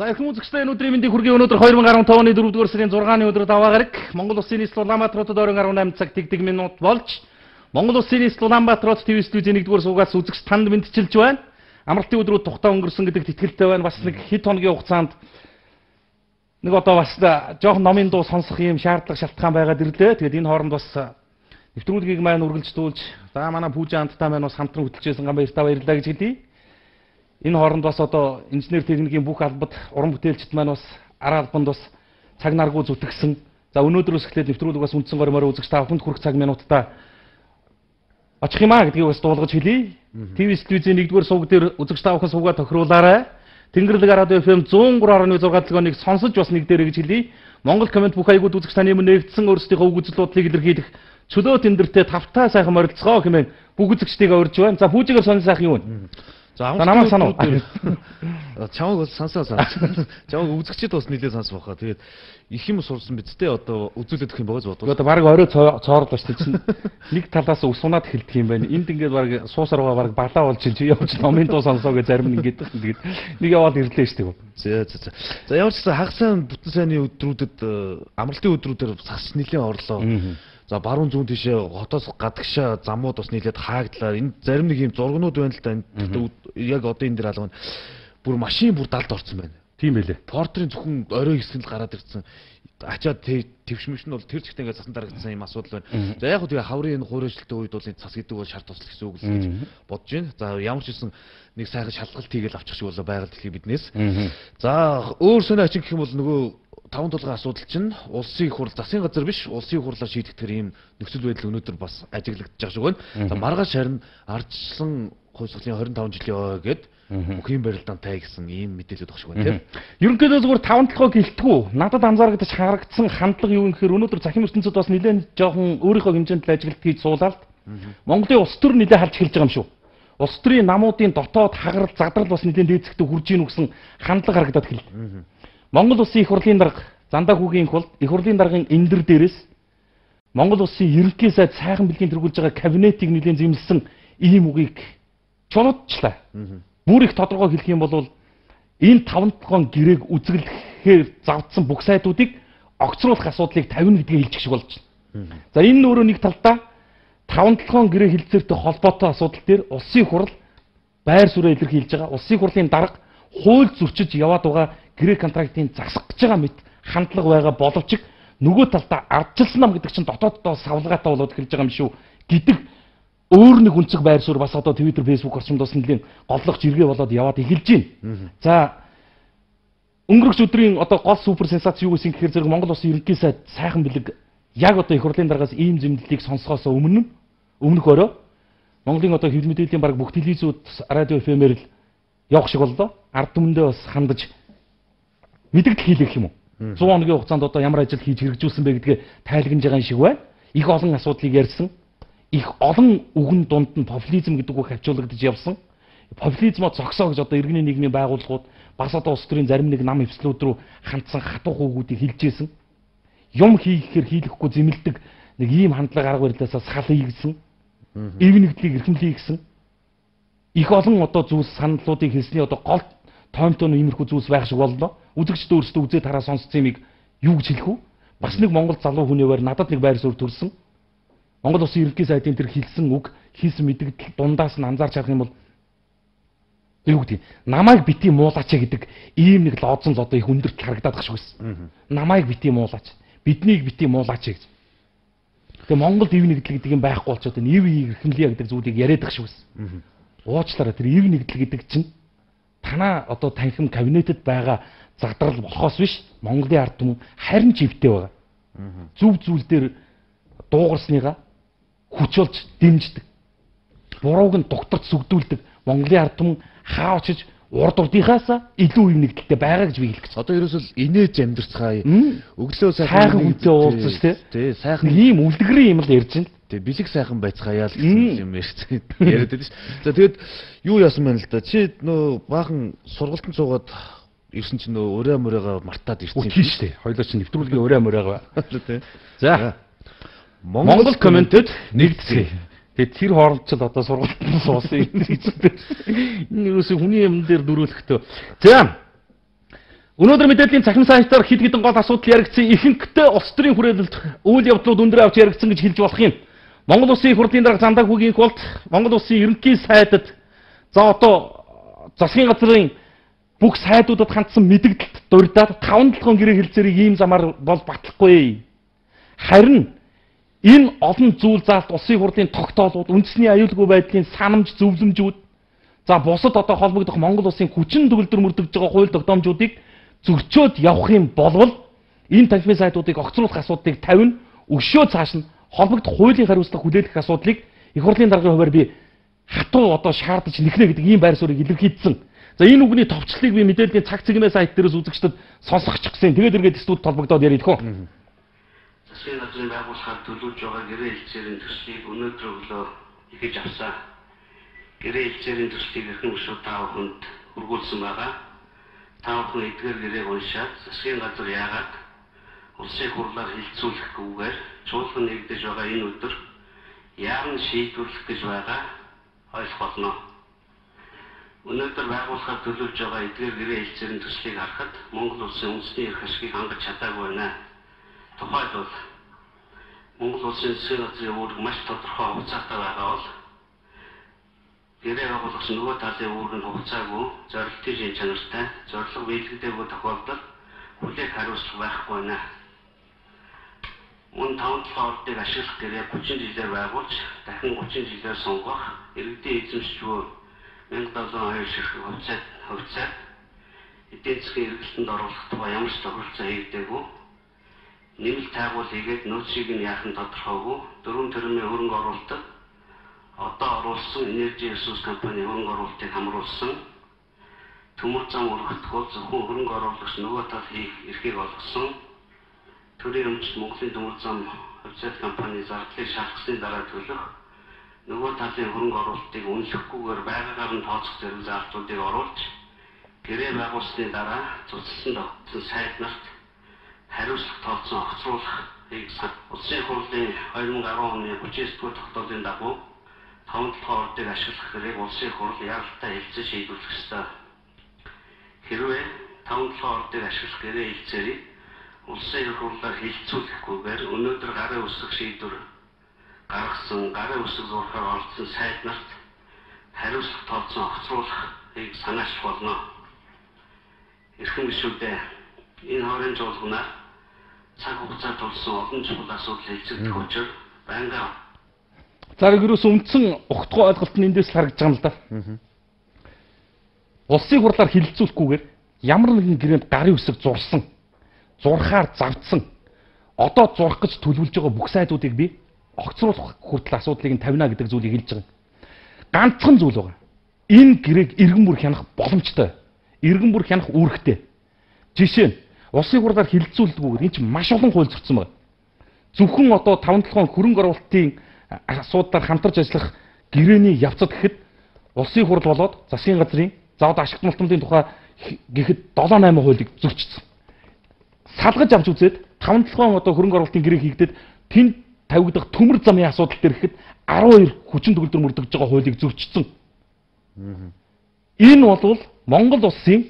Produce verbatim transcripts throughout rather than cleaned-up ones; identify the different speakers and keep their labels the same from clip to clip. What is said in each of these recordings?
Speaker 1: За их үзэгчтэй энэ өдрийн мэндийг хүргэе. Өнөөдөр две тысячи десять оны дөрөвдүгээр сарын зургааны өдөр даваа гараг Монгол Улсын нийслэл Улаанбаатар хотод орон арван eight цаг тэгдэг минут болж Монгол Улсын нийслэл Улаанбаатар хот ТV студийн нэгдүгээр суугаас үзэгч танд мэдчилж байна. Амралтын өдрүүд тухтаа өнгөрсөн гэдэгт итгэлтэй байна. Бас нэг хэд хоногийн хугацаанд нэг одоо бас жоохон номын дуу сонсох юм шаардлага шалтгаан байгаад ирлээ. Тэгээд энэ хооронд бас нэвтрүүлгийг маань үргэлжлүүлж за манай пүүжа хамтдаа маань бас хамтран хөтлөжсэн гам баяртаа баярлалаа гэж хэлье. Энэ хооронд бас одоо инженер техникийн бүх албад уран бүтээлчд маань бас араа албанд бас цаг наргуу зүтгэсэн. За өнөөдрөөс эхлээд нэвтрүүлэг бас үндсэн гормоор үзэгч та бүхэнд хүрэх цаг минутаа очих юм аа гэдгийг бас дуулгаж хэлье. ТV студийн нэгдүгээр сувг дээр үзэгч та бүхэн сувгаа тохируулаарай. Тэнгэрлэг радио эф эм one oh three point six дэлгөөнийг сонсож бас нэг дээрэ гэж хэлье. Монгол комент бүх аягууд үзэгч таны өмнө нэгдсэн өөрсдийнхөө үг үзлүүдлийг илэрхийлэх чөлөө тендертэй тавтаа сайхан морилцгоо хэмээн бүх үзэгчдийгээ урьж байна. За пүүжигээр сонир сайхан юу вэ?
Speaker 2: За намайг санаа. Чамайг бас сонсоо санаа. Чамайг үзэгчд бас нэлээд сонсох байхаа. Тэгээд их юм сурсан бидтэй одоо үзүүлэх юм байгаа ч бодвол.
Speaker 1: Одоо баг орой цоорлоо шүү дээ. Нэг талаас ус унаад эхэлдэг юм байна. Энд ингээд баг суусар байгаа баг балаа болж чи явж номын дуу сонсоо гэж зарим нь ингээд тэгээд нэг яваад ирлээ шүү дээ.
Speaker 2: За за за. За ямар ч хагас сайн бүтэн сайнны өдрүүдэд амралтын өдрүүдээр сагс нэлээд орлоо. За баруун зүүн тийшээ хотоос гадагшаа замууд бас нийлээд хаагдлаа. Энэ зарим нэг юм зургнууд байна л да. Яг одоо энэ дэр алга. Бүр машин бүр далд орсон байна.
Speaker 1: Тийм байлээ.
Speaker 2: Портрийн зөвхөн орой хэсгэнд гараад ирсэн. Ачаад твшмэш нь бол тэр чигтээ ингээд цасан дарагдсан юм асуудал байна. За яг хөө тэгээ хаврын энэ хуурайшлтын үед бол энэ цас гэдэг бол шарт тусал гэсэн үг л гэж бодож байна. За ямар ч хэлсэн нэг сайхан шалгалт хийгээл авчих шиг болоо байгаль дэлхий биднээс. За өөр сони ачин гэх юм бол нөгөө таван тулгын асуудал чинь улсын их хурл засгийн газар биш улсын их хурлаар шийдэгдэх ийм нөхцөл байдал өнөөдөр бас ажиглагдаж байгаа шиг байна. За маргааш харин ардчлан хувьсгалын twenty five жилийн ой гээд бүхийн барилдаантай гэсэн ийм мэдээлэл өгөх шиг байна тийм.
Speaker 1: Ерөнхийдөө зүгээр таван толгой гэлтгүү. Надад анзаарагдаж харагдсан хандлага юу гэхээр өнөөдөр захим ертөнцид бас нэлээд жоохон өөрийнхөө хэмжээнд ажилт хийж суулаад Монголын улс төр нэлээд харж эхэлж байгаа юм шүү. Улс төрийн намуудын дотоод хагарал задрал бас нэлээд дээцэгтэй хурж ийн гэсэн хандлага харагдаад эхэллээ. Монгол Улсын их хурлын дарга Зандаа хүүгийн их хурл их хурлын даргын эндэр дээрээс Монгол Улсын ерөнхий сайд сайхан бэлгийн тэргүүлж байгаа кабинетийг нэлийн зэмлсэн ийм үгийг чулуучлаа. Бүр их тодорхой хэлэх юм бол энэ таван толгойн гэрээг үзэглэхээр завдсан бүх сайдуудыг огцруулах асуудлыг тавина гэдгийг хэлчих шиг болж байна. За энэ өөрөө нэг талдаа таван толгойн гэрээ хэлцээртэй холбоотой асуудал дээр улсын их хурл байр суурь илэрхийлж байгаа. Улсын их хурлын дарга хууль зөрчиж яваад байгаа гэрээ контрактын засах гэж байгаа мэт хандлага байгаа боловч нөгөө талдаа ардчилсан нам гэдэг чинь дотооддоо савлгаатай болоод эхэлж байгаа юм шүү гэдэг өөр нэг үнцэг байр суурь бас одоо Twitter, Facebook орчимд бас нэлийн голлох жиргээ болоод яваад эхэлж байна. За өнгөрөх өдрийн одоо гол супер сенсац юу гэсэн гэхээр зэрэг Монгол Улсын ерөнхий сайд сайхан бэлэг яг одоо их хурлын даргаас ийм зэмлэлийг сонсохоос өмнө өмнөх өрөө Монголын одоо хэвлэл мэдээллийн баг бүх телевизүүд радио эф эм-ээр л явах шиг боллоо. Ард түмэндээ бас хандаж мэдээлэл хийлгэх юм уу? one hundred хоногийн хугацаанд одоо ямар ажил хийж хэрэгжүүлсэн бэ гэдгээ тайлгнаж байгаа юм шиг байна. Их олон асуудлыг ярьсан. Их олон үгэн дунд нь популизм гэдэг үг хавчуулагдаж явсан. Популизмоо зогсоо гэж одоо иргэний нийгмийн байгууллагууд бас одоо улс төрийн зарим нэг нам эвслүүд рүү хандсан хатуух үгүүдийг хэлжсэн. Юм хийхээр хийлэхгүй зэмлдэг нэг ийм хандлага арга барилаасаа сал хийгсэн. Эв нэгдлийг эрхэмлэе гэсэн. Их олон одоо зүйлс саналуудыг хэлсний одоо гол тоомтон иймэрхүү зүйлс байх шиг боллоо. Үзэгчд өөрсдөө үзээд хараа сонсцсон юмыг юу гэж хэлэх вэ? Бас нэг Монгол залуу хүнээвэр надад нэг байр суурь төрсөн. Монгол Улсын ерөнхий сайдын тэр хэлсэн үг, хийсэн мэдээлэл дундаас нь анзаарч харах юм бол юу гэдэг намайг бити муулаач гэдэг ийм нэг лоодсон л одоо их өндөрт харагдаад байх шиг байсан. Намайг бити муулаач, биднийг бити муулаач гэж. Тэгээ Монголд ив нэгдэл гэдэг юм байхгүй болчиход энэ ив эрхэмлэе гэдэг зүйлийг яриад байх шиг байсан. Уучлаарай тэр ив нэгдэл гэдэг чинь танаа одоо танхим кабинетэд байгаа задрал болохоос биш Монголын ард түмэн харин ч ивтэй байгаа. Зүв зүйл дээр дуугарсныгаа хүч болж дэмждэг. Бурууг нь дугтарч сүгдүүлдэг Монголын ард түмэн хаа очиж урд урдынхаас илүү ив нэгдэлтэй байгаа гэж би хэлэх гэж.
Speaker 2: Одоо ерөөсөл инээж амьдэрцгаая. Өглөө
Speaker 1: сайхан үнтэй уулзсан шүү дээ.
Speaker 2: Тий, сайхан
Speaker 1: ийм үлдгэрийн юм л ярьж байна.
Speaker 2: Тий, бэлэг сайхан байцгаая л гэсэн юм ярьж яриад байдаг ш. За тэгээд юу яасан байна л да. Чи нөө баахан сургалтанд суугаад ирсэн чинь нөө өрөө мөрөөгөө мартаад ирсэн
Speaker 1: юм шүү дээ. Хоёлоо чинь нэвтрүүлгийн өрөө мөрөөгөө.
Speaker 2: Тий.
Speaker 1: За Монгол комментэд нэгдсэн. Тэгээд тэр хооронд ч одоо сургалтанд суусан юм гэж. Энэ юусе хүний юм дээр дөрүүлэхдээ. За Өнөөдөр мэдээллийн цахим сайтаар хэд хэдэн гол асуудал яригдсан ихэнхдээ улс төрийн хүрээлэлд үйл явдлууд өндөр авч яригдсан гэж хэлж болох юм. Монгол Улсын их хурлын дарга Зандаг хүүгийн болт Монгол Улсын ерөнхий сайдад за одоо засгийн газрын бүх сайдуудад хандсан мэдээлэлд дурдаад таван толгойн гэрээ хэлцээрийг ийм замаар бол батлахгүй. Харин энэ олон зүйл заалт улсын хурлын тогтоолууд, үндэсний аюулгүй байдлын санамж зөвлөмжүүд, за бусад одоо холбогдох Монгол Улсын хүчин төгөлдөр мөрдөж байгаа хууль тогтоомжуудыг зөрчөөд явах юм болвол энэ танхимын сайдуудыг огцруулах асуудлыг тавина, өгшөө цааш нь холбогдох хуулийн хариуцлага хүлээлгэх асуудлыг их хурлын даргын хувьар би хатуу одоо шаардаж нэхнэ гэдэг ийм байр суурийг илэрхийлсэн. За энэ үгний товчлыг би мэдээллийн цаг цэгнээ сайт дээрээс үзэгчдэд сонсгочихсан. Тэгээд эргээд студид толбогдоод ярих хөө.
Speaker 3: Засгийн газрын байгууллагаар төлөвлөж байгаа гэрээ хэлцээрийн төслийг өнөөдөр өглөө ихэж авсан. Гэрээ хэлцээрийн төслийг эрхэм гишүүд тав хүнд хүргүүлсэн байгаа. Тав хүн эдгээр гэрээг уншаад засгийн газар яагаад улсын хурлаар хилцүүлэхгүйгээр чуулган нэгдэж байгаа энэ өдөр яарн шийдвэрлэх гэж байгаа ойлгох болно. Өнөөдөр байгууллагаар төлөвлөж байгаа эдгээр гэрээ хэлцээрийн төслийг харахад Монгол Улсын үндэсний эрх ашигыг хангаж чадаагүй байна. Тухайлбал Монгол Улсын засгийн газрын үүрэг маш тодорхой хугацаатай байгаа бол гэрээ байгууллагч нөгөө талын үүрэг нь хугацаагүй, зорилтын шин чанартай, зорилго биелэгдээгүй тохиолдолд хүлээх хариуцлага байхгүй байна. Мөн таван толгой ордыг ашиглах гэрээ гучин жилээр байгуулж, дахин гучин жилээр сонгох, иргэдийн эзэмшчгүй мянга долоон хоёр ширхэг хувьцаат хувьцаат эдийн засгийн эргэлтэнд оруулах тухай ямар ч тохиолдол хийгдээгүй. Нэмэлт тайгуул хийгээд нөөцийг нь яахан тодорхойгүй дөрвөн төрөмийн хөрөнгө оруулалт одоо оруулсан энержи ресурс компани хөрөнгө оруулалтыг хамруулсан төмөр зам өргөтгөл зөвхөн хөрөнгө оруулагч нөгөө тал хийх эрхийг олгосон төрийн өмчт Монголын төмөр зам хувьцаат компани зардлыг шалгасны дараа төлөх нөгөө талын хөрөнгө оруулалтыг үнэлэхгүйгээр байгаагаар нь тооцох зэрэг заалтуудыг оруулж гэрээ байгуулсны дараа цуцлсан тогтсон сайд нарт хариуцлага тооцсон огцруулахыг улсын хурлын хоёр мың арван оны гучин есдүгээр тогтоолын дагуу таван толгой ордыг ашиглах гэрээг улсын хурл яралтай хэлцээ шийдвэрлэх ёстой. Хэрвээ таван толгой ордыг ашиглах гэрээ хэлцээрийг улсын их хурлаар хилцүүлэхгүйгээр өнөөдөр гарын үсэг шийдвэр гаргасан гарын үсэг зурхаар оролцсон сайд нарт хариуцлага тооцсон огцруулахыг санаачлах болно. Эрхэм гишүүдээ энэ хорийн жуулгнаар цаг хугацаа тулсан олон чухал асуудал хэлцэгдэх учраас байнга.
Speaker 1: За ерөөс үндсэн огтгой ойлголт нь эндээс харагдаж байгаа юм л да. Улсын хурлаар хилцүүлэхгүйгээр ямар нэгэн гэрээнд гарын үсэг зурсан, зурхаар завдсан, одоо зурх гэж төлөвлөж байгаа бүх сайдуудыг би огцруулах хүртэл асуудлыг нь тавина гэдэг зүйлийг хэлж байгаа. Ганцхан зүйл байгаа. Энэ гэрээг иргэн бүр хянах боломжтой. Иргэн бүр хянах үүрэгтэй. Жишээ нь улсын хурлаар хилцүүлдэггүйгээр энэ чинь маш олон хууль зөрчсөн байна. Зөвхөн одоо таван толгойн хөрөнгө оруулалтын асуудлаар хамтарч ажиллах гэрээний явцад гэхэд улсын хурл болоод засгийн газрын заавал ашигт малтмын тухай гэхэд долоо найман хуулийг зөрчсөн. Салгаж авч үзээд таван толгойн одоо хөрөнгө оруулалтын гэрээ хийгдээд тэнд тавигдах төмөр замын асуудал дээр гэхэд арван хоёр хүчин төгөлдөр мөрдөж байгаа хуулийг зөрчсөн. Энэ бол Монгол улсын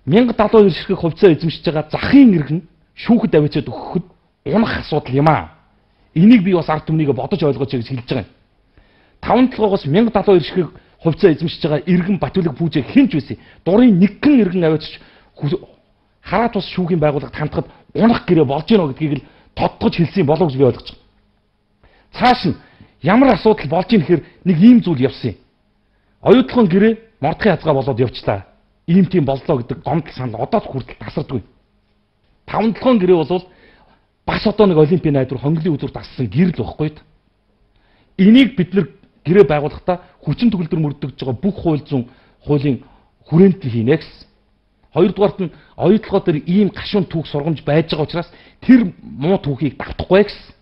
Speaker 1: мянга далуу хоёр ширхэг хувьцаа эзэмшиж байгаа захын иргэн шүүхэд авчиад өгөхөд унах асуудал юм аа. Энийг би бас ард түмнийг бодож ойлгооч гэж хэлж байгаа юм. Таван толгоогоос мянга далуу хоёр ширхэг хувьцаа эзэмшиж байгаа иргэн Батүлэг Пүүжэг хинч байсан. Дурын нэгэн иргэн авчиж хараа тус шүүхийн байгууллагад хандхад унах гэрээ болж гинэ гэдгийг л тодтогч хэлсэн болов гэж би ойлгож байгаа. Цааш нь ямар асуудал болж ийн гэхээр нэг ийм зүйл явсан юм. Оюутлогын гэрээ мордхын хязгаа болоод явчлаа. Ийм тийм боллоо гэдэг гомдол санал одоо ч хүртэл тасардгүй. Таван толгойн гэрээ бол бас одоо нэг олимпийн найдвар хонглын үзүүр тассан гэрэл байхгүй. Энийг бид нэр гэрээ байгуулахдаа хүчин төгөлдөр мөрдөж байгаа бүх хууль зүйн хуулийн хүрээнд хийнэ гэсэн. Хоёрдугаарт нь оюутлогоо дээр ийм гашуун түүх сургамж байж байгаа учраас тэр муу түүхийг давтахгүй гэсэн.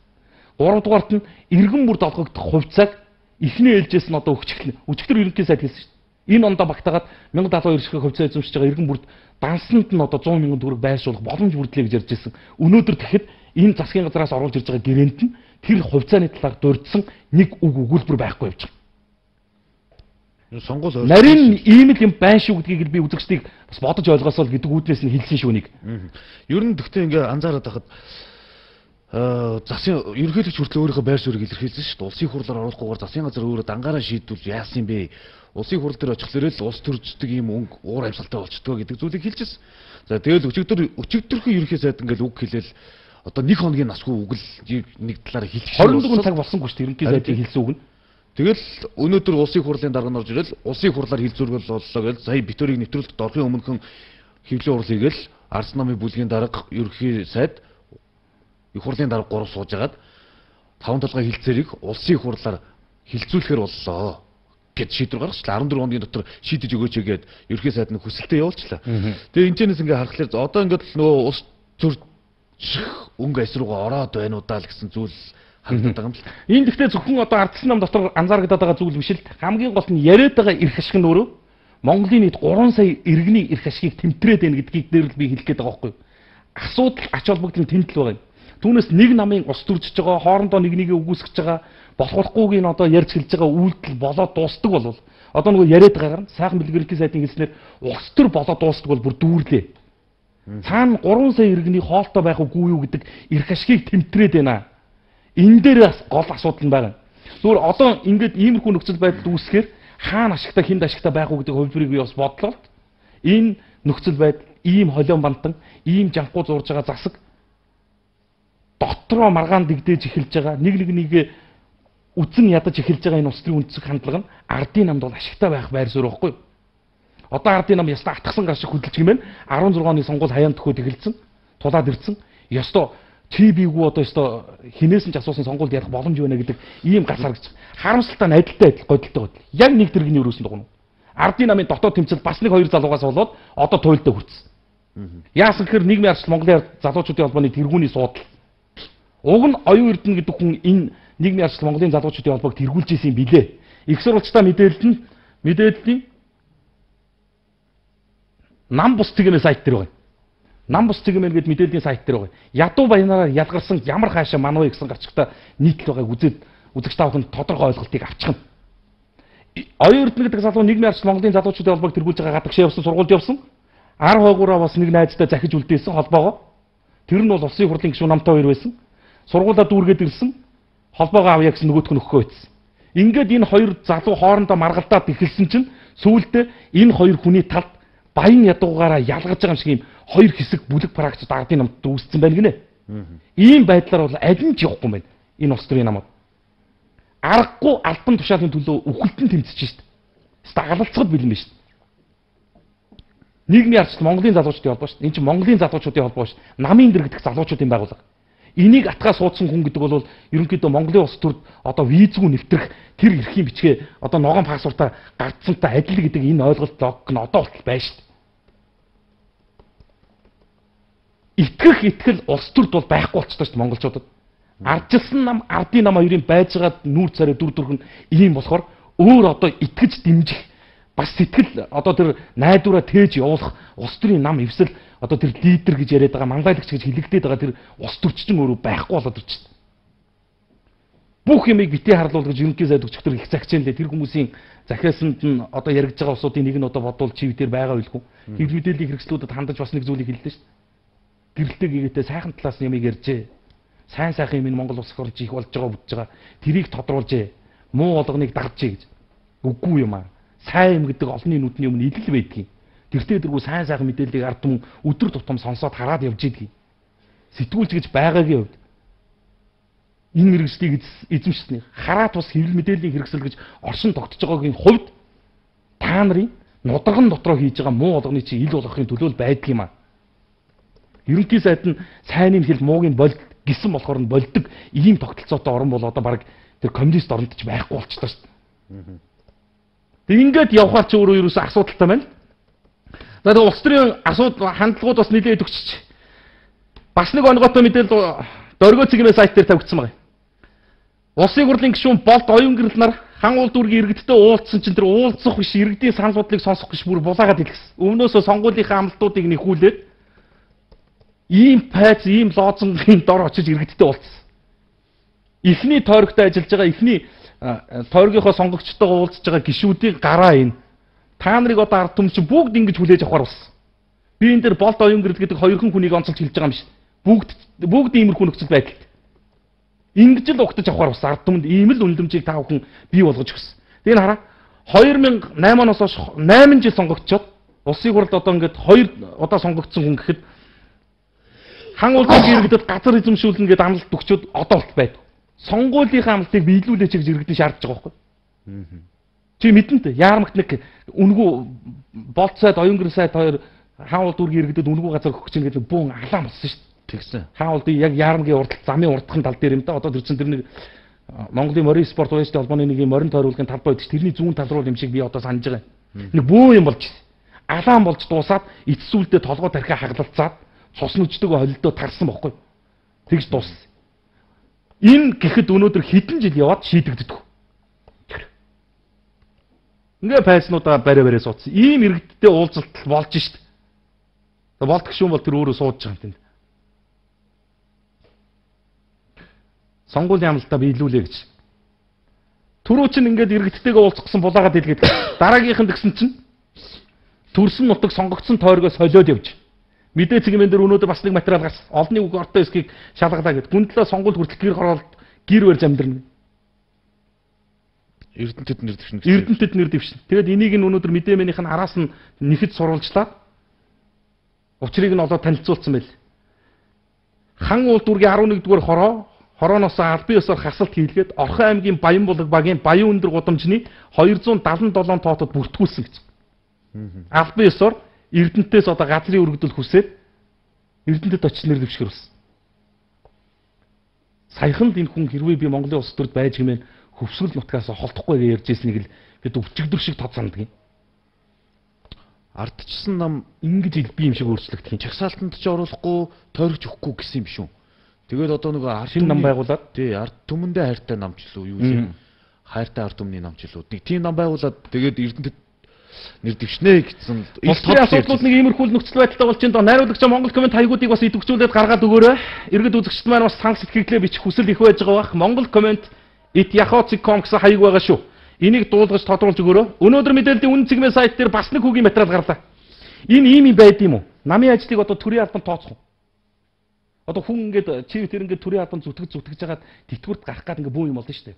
Speaker 1: Гуравдугаарт нь иргэн бүрд олгогдох хувьцааг эхний ээлжээс нь одоо өчгөл өчгдөр ерөнхий сайд хэлсэн шүү дээ. Энэ ондоо багтаагаад мянга далуу хоёр ширхэг хувьцаа эзэмшиж байгаа иргэн бүрд дансанд нь одоо зуун мянган төгрөг байршуулах боломж бүрдлээ гэж ярьж ирсэн. Өнөөдөр тэгэхэд энэ засгийн газраас оруулж ирж байгаа гэрээнд нь тэр хувьцааны талаар дурдсан нэг үг өгүүлбэр байхгүй явж байгаа.
Speaker 2: Сонгол
Speaker 1: нарийн ийм л юм байна шүү гэдгийг би үзэгчдийг бас бодож ойлгосоо гэдэг үүднээс нь хэлсэн шүү нэг.
Speaker 2: Ер нь гэхдээ ингээ анзаараад байхад аа засын ерөнхийлөгч хүртэл өөрийнхөө байр суурийг илэрхийлсэн шүү дээ. Улсын хурлаар оруулахгүйгээр засын газар өөрөө дангаараа шийдвэл яасан бэ? Улсын хурал дээр очихлоо л улс төрждөг юм өнгө уур амьсгалтай болчдгоо гэдэг зүйлийг хэлчихсэн. За тэгэл өчигдөр өчигдөрхөн ерөнхий сайд ингээл үг хэлээл одоо нэг хоногийн насгүй үг л нэг талаараа хэлчих.
Speaker 1: хорин дугаар цаг болсонгүй шүү дээ ерөнхий сайдын хэлсэн үг нь.
Speaker 2: Тэгэл өнөөдөр улсын хурлын дарга нь орж ирэл улсын хурлаар хил зүргэл боллоо гэж сая битүүрийг нэвтрүүлэхэд орохын өмнөхөн хэвлэл урал хийгээл Арс намын бүлгийн дарга ерөнхий сайд их хурлын дарга гурав сууж агаад таван толгой хилцээрийг улсын хурлаар хилцүүлэхээр боллоо гэд шийдвэр гаргачлаа. арван дөрвөн хоногийн дотор шийдэж өгөөч гэгээд ерөнхий сайд нь хүсэлтээ явуулчлаа. Тэгээ энэчнээс ингээ харахаар одоо ингээд нөгөө улс төрчих өнгө эсрүүгээ ороод байна уу даа л гэсэн зүйл харагдаад байгаа юм л.
Speaker 1: Энэ гэхдээ зөвхөн одоо ардсан нам дотор анзаарагдаад байгаа зүйл биш л хамгийн гол нь яриад байгаа эрх ашиг нь өөрөө Монголын нийт гурван сая иргэний эрх ашигыг тэмтрээд байна гэдгийг дээр л би хэлэх гээд байгаа байхгүй юу. Асуудал ач холбогдол нь тэмдэл байгаа юм. Түүнээс нэг намын ус төржиж байгаа, хоорондоо нэг нэгээ үгүйсгэж байгаа, болохгүй нь одоо ярьж хэлж байгаа үйлдэл болоод дуустдаг болвол одоо нөгөө яриад байгаагаар сайхан бэлгэрлийн сайдын хэлснээр ус төр болоод дуустдаг бол бүр дүүрлээ. Цаана гурван сая иргэний хоолтой байх үгүй юу гэдэг эрх ашигыг тэмтрээд байна. Энэ дээр бас гол асуудал нь байгаа. Зүгээр одоо ингээд иймэрхүү нөхцөл байдал үүсгэхээр хаана ашигтай хинд ашигтай байх уу гэдэг хувьбарыг би бас бодлоо. Энэ нөхцөл байдал ийм холион бантан, ийм жанхуу зурж байгаа засаг дотроо маргаан дэгдээж эхэлж байгаа нэг нэг нэгэ үзэн ядаж эхэлж байгаа энэ улс төрийн үндэслэх хандлага нь ардын намд бол ашигтай байх байр суурь байхгүй. Одоо ардын нам ястаа атгсан гар шиг хөдөлж гэмээр арван зургааны сонгуул хаяанд төхөөд эхэлсэн, тулаад ирсэн. Ёстой чи бийгүү одоо ёстой хинээс нь ч асуусан сонгуульд ярих боломж байна гэдэг ийм гас харагч. Харамсалтай нь адилтай адил годилтой годил. Яг нэг дэргэний өрөөсөнд дугна. Ардын намын дотоод тэмцэл бас нэг хоёр залуугаас болоод одоо туйлдаа хүрсэн. Яасан гэхээр нийгмийн арчил Монголын залуучуудын холбооны тэргүүний суудал. Уг нь оюун эрдэнэ гэдэг хүн энэ нийгмийн арчил Монголын залуучуудын холбоог тэргүүлж исэн юм билээ. Их сурвалжтай мэдээлэл нь мэдээллийн нам бус цэгийн сайт дээр байна. Нам бус цэгийн гэдэг мэдээллийн сайт дээр байгаа. Ядуу баянаараа ялгарсан ямар хаашаа манвэ гэсэн гарчигтай нийтлэл байгааг үзээд үзэгч таахын тодорхой ойлголтыг авчихна. Оюун эрдэнэ гэдэг залуу нийгмийн арчил Монголын залуучуудын холбоог тэргүүлж байгаа гадагш явсан сургуульд явсан. Ар хойгоороо бас нэг найзтай захиж үлдээсэн холбоогоо. Тэр нь бол улсын хурлын гишүүн намтай хоёр байсан. Сургуулаа дүүргээд ирсэн. Холбоогоо авъя гэсэн нөгөөтг нь өгөхгүй байсан. Ингээд энэ хоёр залуу хоорондоо маргалдаад эхэлсэн чинь сүүлдээ энэ хоёр хүний талд баян ядуугаараа ялгаж байгаа юм шиг юм хоёр хэсэг бүлэг практик ардын намд үүссэн байна гинэ. Ийм байдлаар бол аль нь ч явахгүй юм байна. Энэ улс төрийн намууд. Аргагүй албан тушаалын төлөө үхэлтэн тэмцэж шít. Стагалцгад бэлэн биш. Нийгмийн арчил Монголын залуучуудын холбоо шүү. Энэ чинь Монголын залуучуудын холбоо шүү. Намын дэр гэдэг залуучуудын байгууллага. Энийг атгаа суудсан хүн гэдэг бол ерөнхийдөө Монголын улс төрд одоо визгүй нэвтрэх тэр эрхийн бичгээ одоо ногоон пассвортаар гардсантай адил гэдэг энэ ойлголт логик нь одоо болтол байна шүү. Итгэх итгэл улс төрд бол байхгүй болчихсон шүү монголчуудад. Ардчилсан нам ардын нам хоёрын байж байгаа нүүр царай дүр төрх нь ийм болохоор өөр одоо итгэж дэмжих бас сэтгэл одоо тэр найдвараа тээж явуулах улс төрийн нам эвсэл одоо тэр лидер гэж яриад байгаа мангайлагч гэж хэлэгдээд байгаа тэр улс төрчин өөрөө байхгүй болоод ирчихсэн. Бүх юмыг битээ харлуул гэж ерөнхий сайд өчигдөр их загчаанлээ тэр хүмүүсийн захиасанд нь одоо яригдж байгаа улсуудын нэг нь одоо бодвол чив дээр байгаа байлгүй. Хэвлэл мэдээллийн хэрэгслүүдэд хандаж бас нэг зүйлийг хэллээ шүү дээ. Гэрэлтэй гээтэй сайхан талаас нь юмыг ярьжээ. Сайн сайхан юм Монгол улс орж их болж байгаа бүж байгаа. Тэрийг тодруулжээ. Муу болгоныг дагжээ гэж. Үгүй юм аа. Сайн юм гэдэг олонний нүдний өмнө идэл байдгийг. Тэртээ дэргүү сайн сайхан мэдээллийг ард түмэн өдөр тутам сонсоод хараад явж идэгий. Сэтгүүлч гэж байгаагийн хувьд энэ мэрэгжлийг эзэмшсэн. Хараад бас хэвлэл мэдээллийн хэрэгсэл гэж оршин тогтож байгаагийн хувьд та нарын нударган дотроо хийж байгаа муу болгоны чинь ил болгохын төлөө байдаг юм аа. Ерөнхий сайд нь сайнын хэл муугийн болд гисэн болохоор нь болдог ийм тогтолцоотой орн бол одоо баг тэр коммунист оронд ч байхгүй болчихлоо шүү дээ. Тэг ингээд явхаар ч өөрөө ерөөсөө асуудалтай байна. За тэг улс төрийн асуудал хандлагууд бас нэлээд өгчөж. Бас нэг онготой мэдээлэл дөргөө цэгмээ сайт дээр тавигдсан байна. Улсын хурлын гишүүн Болд оюун гэрэл нар хан уул дүүргийн иргэдтэй уулзсан чинь тэр уулзах биш иргэдийн санал бодлыг сонсох биш бүр булаагаад хэлсэн. Өмнөөсөө сонгуулийнхаа амлалтуудыг нэхүүлээд ийм пайц, ийм лоозонгийн дор очиж иргэдтэй уулзсан. Эхний тойрогтой ажиллаж байгаа эхний тойргийнхоо сонгогчтойгоо уулзж байгаа гишүүдийн гараа энэ. Та нарыг одоо ард түмэн чинь бүгд ингэж хүлээж авахар болсон. Би энэ дээр болт оюун гэрэл гэдэг хоёрхан хүнийг онцолж хэлж байгаа юм биш. Бүгд бүгд иймэрхүү нөхцөл байдалд. Ингэж л угтаж авахар болсон. Ард түмэнд ийм л үнэлэмжийг та бүхэн бий болгож өгсөн. Тэгээ хараа хоёр мянга осем оноос хойш осем жил сонгогдчоод улсын хурлд одоо ингээд хоёр удаа сонгогдсон хүн гэхэд хан улсын иргэдэд газар эзэмшүүлнэ гэдэг амлалт өгчөөд одоо болт байд. Сонгуулийнхаа амлалтыг биелүүлээч гэж иргэдэн шаардж байгаа байхгүй. Чи мэдэн тэ яармагт нэг үнгүү болт сайд оюун гэрэл сайд хоёр хаан улд үргийн иргэдэд үнгүү газар өгөх чинь гэдэг бүүн алаан болсон шүү дээ. Тэгсэн. Хаан улдын яг яармгийн урдтал замын урдхан тал дээр юм да. Одоо тэр чинь тэр нэг Монголын морин спорт уяжтай холбооны нэг морин тойруулгын талбай байдаг. Тэрний зүүн тал руу юм шиг би одоо санаж байгаа юм. Нэг бүүн юм болж алаан болж дуусаад эцсүүлдээ толгой тархиа хагалцаад цус нүчтэйг холилдоо тарсан бохгүй. Тэгж дууссан. Энэ гэхэд өнөөдөр хэдэн жил яваад шийдэгддэг. Ингээ пайснуудаа барай барай суудсан. Ийм иргэдтэй уулзалт болж шít. Болдох шүүн бол тэр өөрөө суудж байгаа юм тэнд. Сонгуулийн амлалтаа биелүүлээ гэж. Түрүү чинь ингээд иргэдтэйгээ уулзах гэсэн булаагаад хэлгээд дараагийнх нь тэгсэн чинь төрсөн нутаг сонгогдсон тойргоо солиод явж. Мэдээ цэгийн дээр өнөөдөр бас нэг материал гарсан. Олонний үг ортой эсхийг шалгалаа гэд. Гүндлээ сонгуул хүртэл гэр хороолт гэр барьж амьдрна.
Speaker 2: Эрдэнэтэд нэр дэвшнэ.
Speaker 1: Эрдэнэтэд нэр дэвшнэ. Тэгэд энийг нь өнөөдөр мэдээмэнийх нь араас нь нэхэд сурвалжлаад учрыг нь олоод танилцуулсан байл. Хан улд үргийн арван нэгдүгээр хороо хорооноос албан ёсоор хасалт хийлгээд Орхон аймгийн Баянбулаг багийн Баян өндөр гудамжны двести седемдесет и семь тоотод бүртгүүлсэн гэж. Албан ёсоор Эрдэнэтээс одоо газрын өргөдөл хүсээд Эрдэнэтэд очиж нэр дэвшгэрсэн. Саяхан энэ хүн хэрвээ би Монголын улс төрд байж гэмээр хөвсгөл нутгаас холдохгүй гэж ярьж ирснийг л бид өвчгдөр шиг тод санддаг юм.
Speaker 2: Ардчсан нам
Speaker 1: ингэж илби юм шиг өөрчлөгдөх юм.
Speaker 2: Чагсаалтанд ч оруулахгүй, тойрогч өгөхгүй гэсэн юм шүү. Тэгээд одоо нөгөө ард
Speaker 1: шинэ нам байгуулад
Speaker 2: тий ард түмэндээ хайртай намч лөө юу юм. Хайртай ард түмний намч лөө. Нэг тийм нам байгуулад тэгээд Эрдэнэтэд нэр дэвшнэ гэсэн
Speaker 1: их тод асуудлууд нэг иймэрхүү нөхцөл байдалтай болж байна. Найруулагч Монгол комент хаягуудыг бас идэвхжүүлээд гаргаад өгөөрэй. Иргэд үзэгчд маань бас санал сэтгэлдээ бичих хүсэл их байж байгаа бах. Монгол комент ит яхоцик точка ком гэсэн хаяг байгаа шүү. Энийг дуулгаж тодруулж өгөөрэй. Өнөөдөр мэдээллийн үнэн цэгмээ сайт дээр бас нэг хүүгийн материал гарлаа. Энэ ийм юм байд юм уу? Намын ажлыг одоо төрийн албанд тооцох уу? Одоо хүн ингээд чи тэр ингээд төрийн албанд зүтгэж зүтгэж жагаад тэтгэврт гарах гад ингээд бүү юм болно шүү дээ.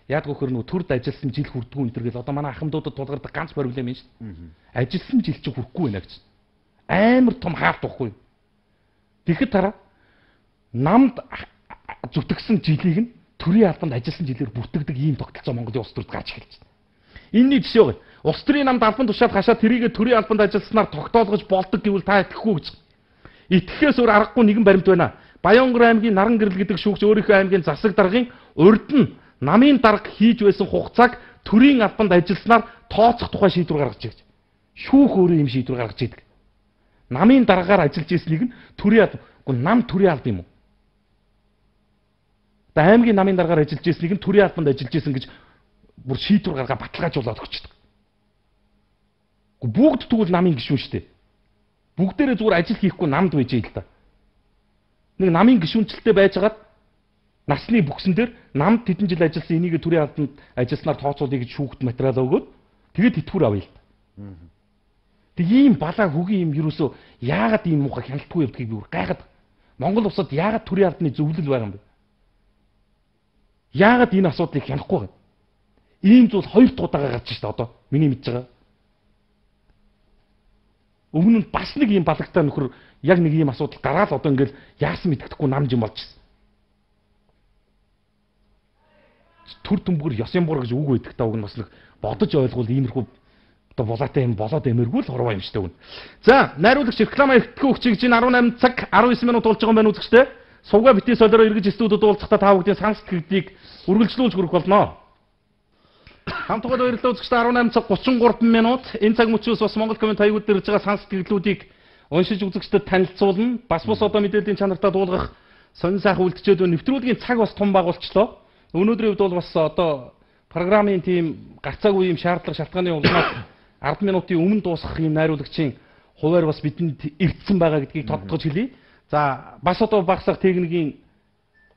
Speaker 1: Яг гохор нөгөө төрд ажилласан жил хүрдгүү энэ төр гэл одоо манай ахмадуудад тулгардаг ганц проблем юм шүү дээ. Ажилласан жил чи хүрхгүй байна гэж. Амар том хаалт واخгүй. Тэгэхэд тараа намд зүтгэсэн жилийг нь төрийн албанд ажилласан жилээр бүртгэдэг ийм тогтолцоо Монголын улс төрд гарч эхэлж байна. Энэний жишээ байна. Улс төрийн намд албан тушаад хашаа тэрийг төрийн албанд ажилласнаар тогтоолгож болдог гэвэл та итгэхгүй гэж. Итгэхээс өөр аргагүй нэгэн баримт байна. Баянгор аймгийн Наран гэрэл гэдэг шүүгч өөрийнхөө аймгийн засаг даргын урд нь намын дарга хийж байсан хугацааг төрийн албанд ажилласнаар тооцох тухай шийдвэр гаргаж ирж. Шүүх өөрөө юм шийдвэр гаргаж идэг. Намын дараагаар ажиллаж ирснийг нь төрийн албан, нам төрийн албан юм уу? Та аймгийн намын дараагаар ажиллаж ирснийг нь төрийн албанд ажиллаж ирсэн гэж бүр шийдвэр гаргаа баталгаажуулаад өгчдөг. Бүгд тэгвэл намын гишүүн шүү дээ. Бүгдээрээ зүгээр ажил хийхгүй намд байж ийл та. Нэг намын гишүүнчлэлтэй байжгаад насны бүксэн дээр намд тэдэн жил ажилласан энийг төрийн албанд ажилласнаар тооцоолъё гэж шүүхт материал өгөөд тэгээд тэтгэвэр авъя л та. Тэг ийм балаа хөгийн юм юусоо яагаад ийм муухай хяналтгүй явдгийг би бүр гайхаад. Монгол улсад яагаад төрийн албаны зөвлөл байгаа юм бэ? Яагаад энэ асуудлыг хянахгүй вэ? Ийм зүйл хоёр дахь удаагаа гарч ирж та одоо миний мэдж байгаа. Өмнө нь бас нэг ийм балагтай нөхөр яг нэг ийм асуудал гараад одоо ингээл яасан мэддэхгүй намж юм болж байна. Түр төмбөр ёсын бур гэж үг байдаг та уг нь бас нэг бодож ойлгвол иймэрхүү одоо булаатай юм болоод эмэргүй л хорвоо юм штэ үн. За, найруулагч реклама ихтгэх хүчийг чинь арван восемь цаг арван девять минут болж байгаа юм байна үзэгчтэй. Сувга битээ солиороо эргэж студиуд уулзахдаа та бүдгийн санал сэтгэлдлийг үргэлжлүүлж хүрэх болно. Хамтдаа баярлалаа үзэгчтэй арван восемь цаг гучин гурван минут. Энэ цаг мөчөөс бас Монгол комент хаягууд дээр ирж байгаа санал сэтгэлдлүүдийг уншиж үзэгчдэд танилцуулна. Бас бус одоо мэдээллийн чанартаа дуулгах сонин сайхан үлдчихэд нэвтрүүлгийн цаг бас том байгуулчлаа. Өнөөдрийн үед бол бас одоо программын тийм гарцаагүй юм шаардлага шалтгааны улмаас ард минутын өмнө дуусгах юм найруулагчийн хуваар бас бидэнд эрдсэн байгаа гэдгийг тодтогч хэлье. За бас одоо багсах техникийн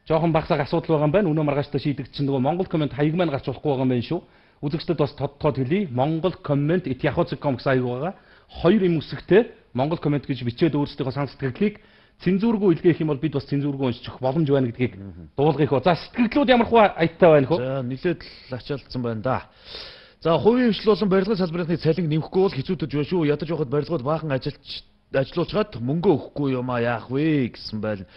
Speaker 1: жоохон багсаг асуудал байгаа юм байна. Өнөө маргааштай шийдэгдсэн нөгөө Монгол комент хаяг маань гарч болохгүй байгаа юм байна шүү. Үзэгчдэд бас тодтоод хэлье. Монгол комент эт яхоцком гэсэн хаяг байгаа. Хоёр юм үсэгтэй Монгол комент гэж бичээд өөрсдийнхөө сан сэтгэлдлийг цензургүй илгээх юм бол бид бас цензургүй уншчих боломж байна гэдгийг дуулгах хөө. За сэтгэлдлүүд ямар хуу аяттай байна хөө.
Speaker 2: За нилээд л ачаалдсан байна да. За хувийн хвшил болон барилгын салбарын цалин нэмэхгүй бол хэцүүдэж байна шүү. Ядаж явахад барилгууд баахан ажилч ажилуулчаад мөнгө өгөхгүй юм а яах вэ гэсэн байна.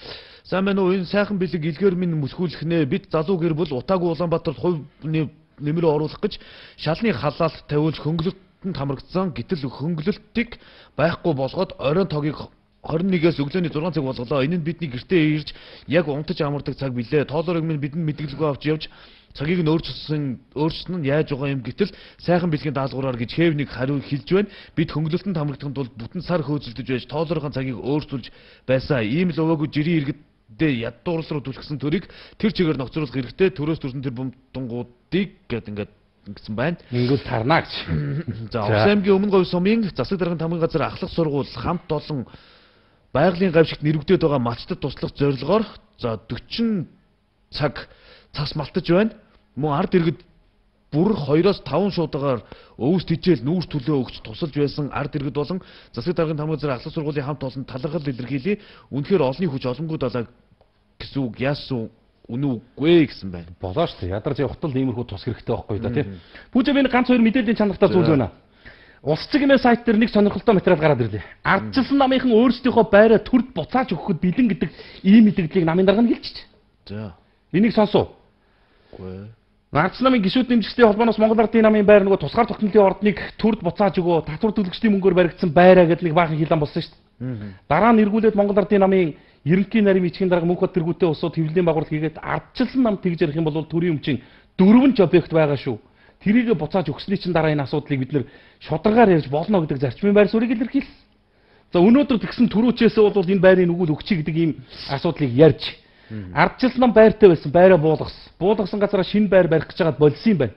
Speaker 2: Сайн байна уу? Энэ сайхан бэлэг илгээр минь мөсгүүлэх нэ. Бид залуу гэр бүл Утаагүй Улаанбаатарт хувийн нэмрээ оруулах гэж шалны халаалт тавиулж хөнгөлөлтөнд хамрагдсан. Гэтэл хөнгөлөлтийг байхгүй болгоод оройн тогийг двадцать нэгээс өглөөний зургаан цаг болголоо. Энэ нь бидний гэртээ ирж яг унтаж амардаг цаг билээ. Тоолорыг минь бидэнд мэдгэлгүй авч явж цагийг нь өөрчилсөн өөрчлөн нь яаж байгаа юм гэтэл сайхан бэлгийн даалгавраар гэж Хевник хариу хэлж байна. Бид хөнгөлөлтөнд хамрагдахын тулд бүтэн сар хөөцөлдөж байж тоолорын цагийг өөрчилж байсан. Ийм л өвөөгүй жирийн иргэдээ ядуурл руу түлхсэн төрийг тэр чигээр ногцруулах хэрэгтэй. Төрөөс төрсөн тэр бомтонгуудыг гэд ингээд гэсэн байна.
Speaker 1: Ингүүл тарна гэж.
Speaker 2: За Овс аймгийн Өмнө Говь сумын засаг даргын тамгын газар ахлах сургууль хамт олон байгалийн гавьшигт нэрвэгдээд байгаа малчдад туслах зорилгоор за forty цаг цас малтаж байна. Мөн ард иргэд бүр two-оос five шуудагаар өвс тижэл нүүрс төлөө өгч тусалж байсан ард иргэд болон засаг даргын тамгын газар ахлах сургуулийн хамт олон талархал илэрхийлээ. Үнэхээр олонний хүч олонгүй далаа гэсэн үг яасан үнэн үгүй гэсэн байна.
Speaker 1: Болоо шүү дээ. Ядарч явахтал иймэрхүү тус хэрэгтэй байхгүй да тийм. Пүүжэ би ганц хоёр мэдээллийн чанартай зүйл байна. Улс цэгийн сайт дээр нэг сонирхолтой материал гараад ирлээ. Ардчилсан намынхан өөрсдийнхөө байраа төрд буцааж өгөхөд бэлэн гэдэг ийм мэдээллийг намын дарга нь хэлчихэж.
Speaker 2: За.
Speaker 1: Энийг сонсов.
Speaker 2: Үгүй.
Speaker 1: Ардчилсан намын гишүүд нэмжигчдийн холбооноос Монгол Ардын намын байр нөгөө тусгаар тогтнолын ордныг төрд буцааж өгөө, татвар төлөгчдийн мөнгөөр баригдсан байраа гэдэг нэг баахан хилэн болсон шүү дээ. Дараа нь эргүүлээд Монгол Ардын намын ерөнхий нарийн бичгийн дарга Мөнхбат тэргүүтээ усууд хэвлэлийн байгууллага хийгээд ардчилсан нам тэгж ярих юм бол төрийн өмчийн дөрвөн ч объект байгаа шүү. Тэрийг буцааж өгсөний чинь дараа энэ асуудлыг бид нэр шударгаар ярьж болно гэдэг зарчмын байр суурийг илэрхийлсэн. За өнөөдөр тэгсэн түрүүчээс бол энэ байрын үгэл өгчий гэдэг ийм асуудлыг ярьж ардчилсан нам байртай байсан байраа буулгасан. Буулгасан газараа шинэ байр барих гэж байгаад болсон юм байна.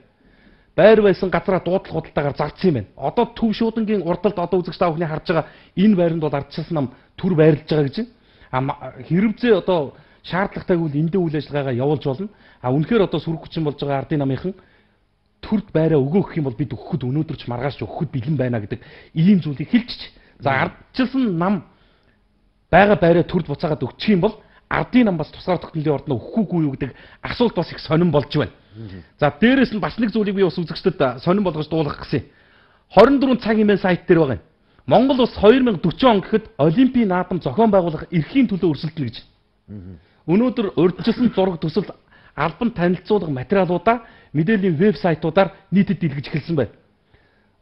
Speaker 1: Байр байсан газараа дуудлах худалдаагаар зардсан юм байна. Одоо төв шуудангийн урдалд одоо үзэгч та бүхний харж байгаа энэ байранд бол ардчилсан нам төр байрлаж байгаа гэж байна. Хэрвээ одоо шаардлагатайг бол эндээ үйл ажиллагаагаа явуулж болно. А үнэхээр одоо сүрэг хүчин болж байгаа ардын намынхан төрд байраа өгөөх юм бол бид өгөхөд өнөөдөр ч маргааш өгөхөд бэлэн байна гэдэг ийм зүйлийг хэлчих. За ардчилсан нам байгаа байраа төрд буцаагаад өгчих юм бол ардын нам бас тусгаар тогтнолын ордноо өгөхгүй юу гэдэг асуулт бас их сонирн болж байна. За дээрэс нь бас нэг зүйлийг би бас үзэгчдэд сонирн болгож дуулгах гэсэн. twenty-four цаг имэн сайт дээр байгаа юм. Монгол улс twenty forty он гэхэд Олимпийн наадам зохион байгуулах эрхийн төлөө өрсөлдөнө гэж. Өнөөдөр урьдчилсан зураг төсөл албан танилцуулга материалуудаа мэдээллийн вебсайтуудаар нийтэд дэлгэж эхэлсэн байна.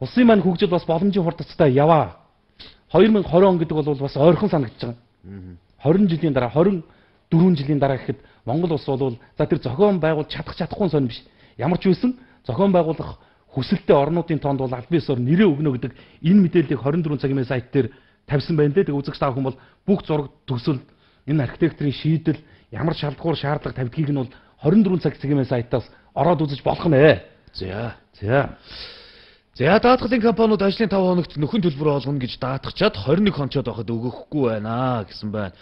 Speaker 1: Улсын маань хөгжил бас боломжийн хурдцтай яваа. twenty twenty он гэдэг бол бас ойрхон санагдаж байгаа. twenty жилийн дараа twenty-four жилийн дараа гэхэд Монгол улс бол за тэр зохион байгуулж чадах чадахгүй сонь биш. Ямар ч үсэн зохион байгуулах хүсэлтэй орнуудын тоонд бол аль биесээр нэрээ өгнө гэдэг энэ мэдээллийг twenty-four цагийн сайт дээр тавьсан байна лээ. Тэг үзэгч та бүхэн бол бүх зураг төсөл энэ архитекторын шийдэл ямар шалгуур шаардлага тавьдгийг нь бол twenty-four цаг цагийн сайтаас ороод үзэж болох нэ.
Speaker 2: За.
Speaker 1: За.
Speaker 2: За даатгалын компаниуд ажлын five хоногт нөхөн төлбөр олгоно гэж даатгачаад twenty-one хончоод байхад өгөхгүй байна гэсэн байна.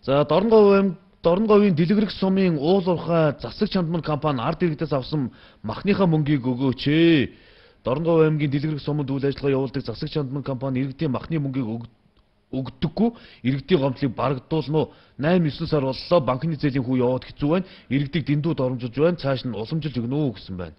Speaker 2: За Дорнговын Дорнговын дэлгэрэх сумын уул уурхай засаг чандман компани ард иргэдээс авсан махныхаа мөнгийг өгөөч ээ. Дорнговь аймгийн дэлгэрэх суманд үйл ажиллагаа явуулдаг засаг чандман компани иргэдийн махны мөнгийг өгдөггүй, иргэдийн гомдлыг барагдуулна уу? eight nine сар боллоо, банкны зээлийн хүү яваад хэцүү байна. Иргэдийг дэндүү доромжилж байна, цааш нь уламжилж өгнө үү гэсэн байна.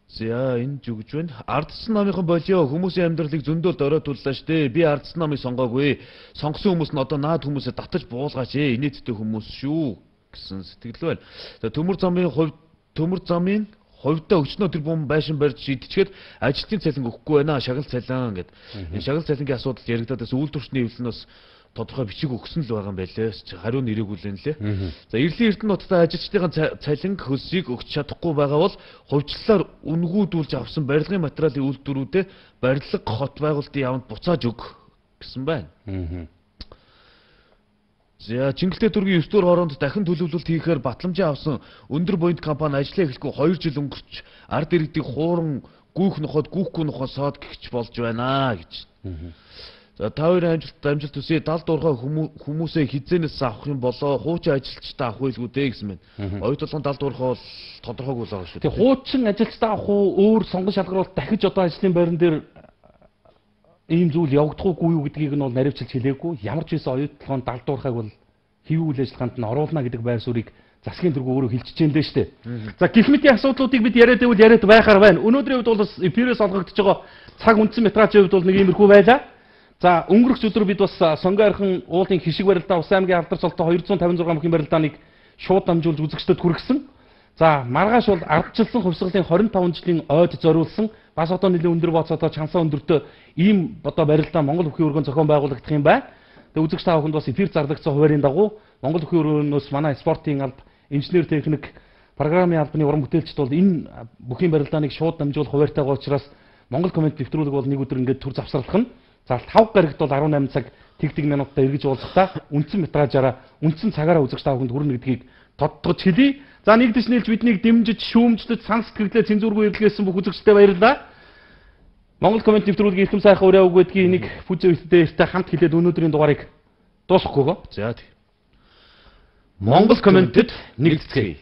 Speaker 2: За энэ ч үгж байна. Ардсан намынхан болио хүмүүсийн амьдралыг зөндөл дөрөөдүүллээ штэ. Би ардсан намыг сонгоогүй. Сонгосон хүмүүс нь одоо наад хүмүүсээ татаж буулгаач ээ. Инээдтэй хүмүүс шүү гэсэн сэтгэл байна. За төмөр замын хувьд төмөр замын хувьдаа өчнөө тэр бум байшин барьж шийдчихэд ажилтны цалин өгөхгүй байна. Шагнал цалин гэдэг. Энэ шагнал цалингийн асуудал яригадаад бас үйлдвэрчний эвлэнээс тодорхой бичиг өгсөн л байгаа юм байлээ. Хариу нэрэгүүлэн лээ. За Эрлийн Эрдэнэ нутгийн ажилчдын цалин хөлсийг өгч чадахгүй байгаа бол хувьчлалаар үнгүүдүүлж авсан барилгын материалын үйлдвэрүүдэд барилга хот байгуулалтын яванд буцааж өг гэсэн байна. За Чингэлтэй дүүргийн ертөнцийн хооронд дахин төлөвлөлт хийхээр батламжаа авсан өндөр буйнд компани ажиллаа эхлэхгүй two жил өнгөрч ард иргэдийг хууран гүүх ноход гүүхгүй нохоо соод гихч болж байна гэж. За та хоёрын амжилт амжилт төсөө далд уурхай хүмүүсээ хизээнээс авах юм болоо хуучин ажилчдаа авах байлгүй дээ гэсэн байна. Оюутлын далд уурхай бол тодорхойгүй л байгаа шүү.
Speaker 1: Тэгээ хуучин ажилчдаа авах уу өөр сонгон шалгаруулалт дахиж одоо ажлын байран дээр ийм зүйл явагдахгүй юу гэдгийг нь бол наривчилж хэлээгүй. Ямар ч байсан оюутлын далд уурхайг бол хэвийн үйл ажиллагаанд нь оруулна гэдэг байр суурийг засгийн тэргүү өөрөө хэлчихэж дээ шүү дээ. За гэх мэтийн асуудлуудыг бид яриад байвал яриад байхаар байна. Өнөөдрийн үед бол бас эфирээс олгогдож байгаа цаг үндсэн метражийн хувьд бол нэг иймэрхүү байлаа. За өнгөрөх өдөр бид бас сонгойрхон уулын хишиг барилдаа Ус аймгийн алдар цолтой двести пятьдесят шесть мөхийн барилдааныг шууд дамжуулж үзэгчдэд хүргэсэн. За маргааш бол ардчилсан хувьсгалын двадцать пять жилийн ойд зориулсан бас одоо нэлээд өндөр бооцоотой чансаа өндөртөө ийм одоо барилдаа Монгол Бүхий өргөн зохион байгуулагдах юм байна. Тэгээ үзэгч та бүхэнд бас эфир зарлагдсан хуваарийн дагуу Монгол Бүхий өргөнөөс манай спортын алба, инженер техник, программын албаны уран бүтээлчд бол энэ бүхий барилдааныг шууд дамжуулах хуваарьтайгаа учраас Монгол комент нэвтрүүлэг бол нэг өдөр ингээд төр завсралах нь. За тавг гарагт бол десять цаг тэг тэг минутаа эргэж уулзахдаа үндсэн метражаараа үндсэн цагаараа үзэгч та бүхэнд хүрнэ гэдгийг тодтогч хэлье. За нэгдэж нийлж биднийг дэмжиж, шүүмжлэж, санс гэрлээ цензургүй эргэлгээсэн бүх үзэгчдэд баярлалаа. Монгол комент нэвтрүүлгийн эрхэм сайхан өрөө үг гэдгийг нэг фүзээстэй хамт хэлээд өнөөдрийн дугаарыг дуусгахгүйгөө.
Speaker 2: За тийм.
Speaker 1: Монгол комментэд нэгтгэе.